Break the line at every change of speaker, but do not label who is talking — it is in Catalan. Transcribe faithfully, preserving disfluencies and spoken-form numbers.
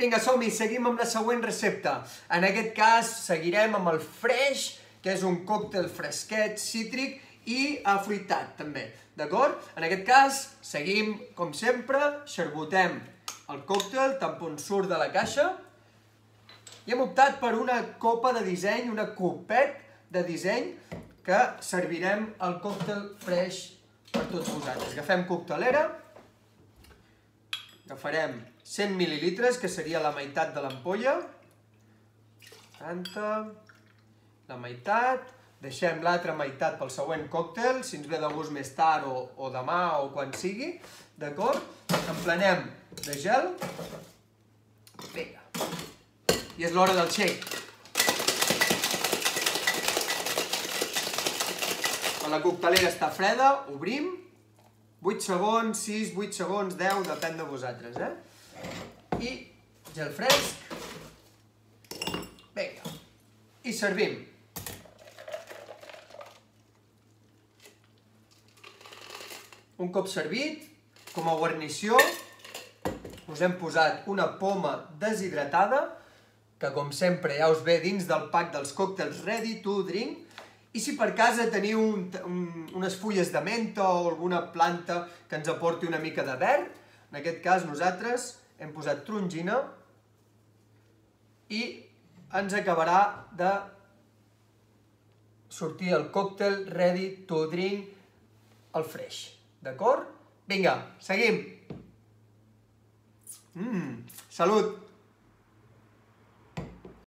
Vinga, som-hi, seguim amb la següent recepta. En aquest cas seguirem amb el fresh, que és un còctel fresquet, cítric i afruitat, també. D'acord? En aquest cas, seguim, com sempre, xarbotem el còctel, tant com surt de la caixa, i hem optat per una copa de disseny, una copet de disseny, que servirem el còctel fresh per tots vosaltres. Agafem coctelera, agafarem cent mil·lilitres, que seria la meitat de l'ampolla, quaranta, la meitat, deixem l'altra meitat pel següent còctel, si ens ve de gust més tard o, o demà o quan sigui, d'acord? Emplenem de gel, vinga, i és l'hora del shake. Quan la coctelera està freda, obrim, vuit segons, sis, vuit segons, deu, depèn de vosaltres, eh? I gel fresc, vinga, i servim. Un cop servit, com a guarnició, us hem posat una poma deshidratada, que com sempre ja us ve dins del pack dels còctels ready to drink, i si per casa teniu un, un, unes fulles de menta o alguna planta que ens aporti una mica de verd, en aquest cas nosaltres hem posat trongina i ens acabarà de sortir el còctel ready to drink, el fresh. D'acord? Vinga, seguim! Mmm, salut!